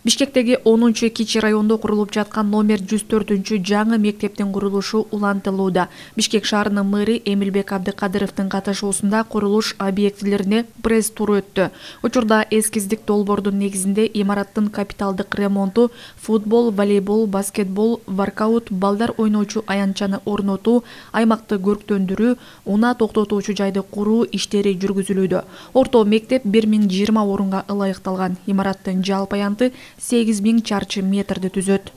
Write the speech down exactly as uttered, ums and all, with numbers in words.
Бишкектеги онунчу кичи райондо курулуп жаткан номер жүз төртүнчү жаңы мектептин курулушу улантылууда. Бишкек шаарынын мэри Эмилбек Абдыкадыровдун катышуусунда курулуш объектилерине пресс-тур өттү. Учурда эскиздик долбоордун негизинде имараттын капиталдык ремонту, футбол, волейбол, баскетбол, воркаут, балдар ойночу аянтчаны орнотуу, аймакты көрктөндүрүү, унаа токтотуучу жайды куруу иштери жүргүзүлүүдө. Орто мектеп бир миң жыйырма орунга ылайыкталган. Имараттын жалпы аянты сегиз миң чарчы метрди түзөт.